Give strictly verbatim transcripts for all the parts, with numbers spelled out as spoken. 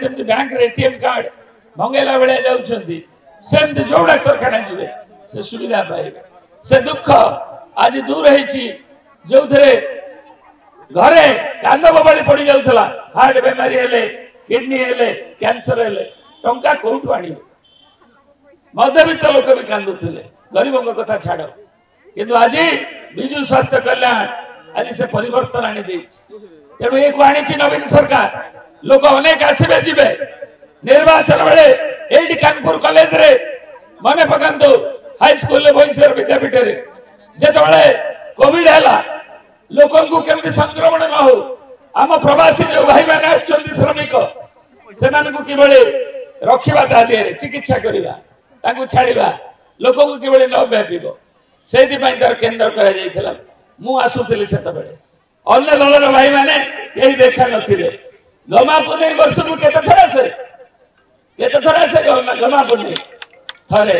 ଯେମିତି ବ୍ୟାଙ୍କରେ ATM card ଭଙ୍ଗେଇଲା ଭଳିଆ ଯାଉଛନ୍ତି, ସେମିତି ଯୋଉ ଡାକ୍ତରଖାନା ଯିବେ ସେ ସୁବିଧା ପାଇବେ। ସେ ଦୁଃଖ ଆଜି ଦୂର ହେଇଛି, ଯୋଉଥିରେ ଘରେ କାନ୍ଦ ବୋବାଳି ପଡି ଯାଉଥିଲା। ହାର୍ଟ ବେମାରୀ ହେଲେ, କିଡନୀ ହେଲେ, କ୍ୟାନ୍ସର ହେଲେ ଟଙ୍କା କୋଉଠୁ ଆଣିବେ? ମଧ୍ୟବିତ୍ତ ଲୋକ ବି କାନ୍ଦୁଥିଲେ, ଗରିବଙ୍କ କଥା ଛାଡ। କିନ୍ତୁ ଆଜି ବିଜୁ ସ୍ୱାସ୍ଥ୍ୟ କଲ୍ୟାଣ ଆଜି ସେ ପରିବର୍ତ୍ତନ ଆଣି ଦେଇଛି। ତେଣୁ ଏକୁ ଆଣିଛି ନବୀନ ସରକାର। ଲୋକ ଅନେକ ଆସିବେ ଯିବେ। ନିର୍ବାଚନ ବେଳେ ଏଇଠି କାନପୁର କଲେଜରେ ମନେ ପକାନ୍ତୁ, ହାଇସ୍କୁଲରେ, ଭୁବନେଶ୍ୱର ବିଦ୍ୟାପୀଠରେ ଯେତେବେଳେ କୋଭିଡ ହେଲା, ଲୋକଙ୍କୁ କେମିତି ସଂକ୍ରମଣ ନ ହଉ, ଆମ ପ୍ରବାସୀ ଯୋଉ ଭାଇମାନେ ଆସୁଛନ୍ତି ଶ୍ରମିକ, ସେମାନଙ୍କୁ କିଭଳି ରଖିବା, ତା ଦେହରେ ଚିକିତ୍ସା କରିବା, ତାଙ୍କୁ ଛାଡ଼ିବା, ଲୋକଙ୍କୁ କିଭଳି ନ ବ୍ୟାପିବ, ସେଇଥିପାଇଁ ତାର କେନ୍ଦ୍ର କରାଯାଇଥିଲା। ମୁଁ ଆସୁଥିଲି ସେତେବେଳେ, ଅନ୍ୟ ଦଳର ଭାଇମାନେ କେହି ଦେଖା ନଥିଲେ। ଗମା ପୁନେଇ ବର୍ଷକୁ କେତେ ଥର ଆସେ? କେତେ ଥର ଆସେ ଗମା ପୁନେଇ? ଥରେ।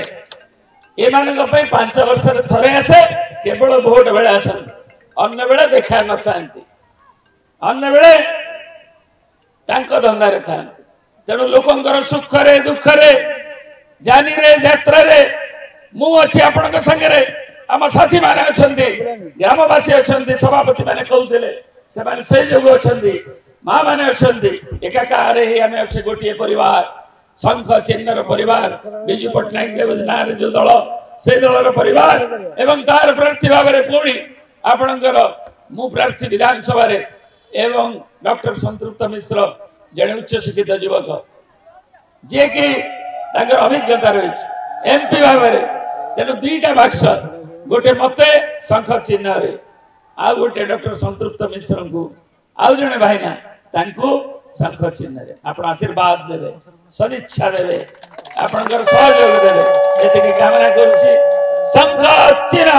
ଏମାନଙ୍କ ପାଇଁ ପାଞ୍ଚ ବର୍ଷରେ ଥରେ ଆସେ, କେବଳ ଭୋଟ ବେଳେ ଆସନ୍ତି, ଅନ୍ୟ ବେଳେ ଦେଖା ନଥାନ୍ତି, ଅନ୍ୟ ବେଳେ ତାଙ୍କ ଧନ୍ଦାରେ ଥାନ୍ତି। ତେଣୁ ଲୋକଙ୍କର ସୁଖରେ ଦୁଃଖରେ, ଜାନିରେ ଯାତ୍ରାରେ ମୁଁ ଅଛି ଆପଣଙ୍କ ସାଙ୍ଗରେ, ଆମ ସାଥୀମାନେ ଅଛନ୍ତି, ଗ୍ରାମବାସୀ ଅଛନ୍ତି, ସଭାପତି ମାନେ କହୁଥିଲେ ସେମାନେ ସେଇ ଯୋଗୁ ଅଛନ୍ତି, ମା ମାନେ ଅଛନ୍ତି। ଏକାକାର ହେଇ ଆମେ ଅଛେ ଗୋଟିଏ ପରିବାର, ଶଙ୍ଖ ଚିହ୍ନର ପରିବାର, ବିଜୁ ପଟ୍ଟନାୟକ ନାଁରେ ଯୋଉ ଦଳ ସେଇ ଦଳର ପରିବାର। ଏବଂ ତାର ପ୍ରାର୍ଥୀ ଭାବରେ ପୁଣି ଆପଣଙ୍କର ମୁଁ ପ୍ରାର୍ଥୀ ବିଧାନସଭାରେ, ଏବଂ ଡକ୍ଟର ସଂତୃପ୍ତ ମିଶ୍ର ଜଣେ ଉଚ୍ଚଶିକ୍ଷିତ ଯୁବକ, ଯିଏକି ତାଙ୍କର ଅଭିଜ୍ଞତା ରହିଛି ଏମପି ଭାବରେ। ତେଣୁ ଦୁଇଟା ବାକ୍ସ, ଗୋଟେ ମତେ ଶଙ୍ଖ ଚିହ୍ନରେ, ଆଉ ଗୋଟେ ଡକ୍ଟର ସଂତୃପ୍ତ ମିଶ୍ରଙ୍କୁ, ଆଉ ଜଣେ ଭାଇନା ତାଙ୍କୁ ଶଙ୍ଖ ଚିହ୍ନରେ। ଆପଣ ଆଶୀର୍ବାଦ ଦେବେ, ସଦିଚ୍ଛା ଦେବେ, ଆପଣଙ୍କର ସହଯୋଗ ଦେବେ, ଏତିକି କାମନା କରୁଛି। ଶଙ୍ଖ ଚିହ୍ନ।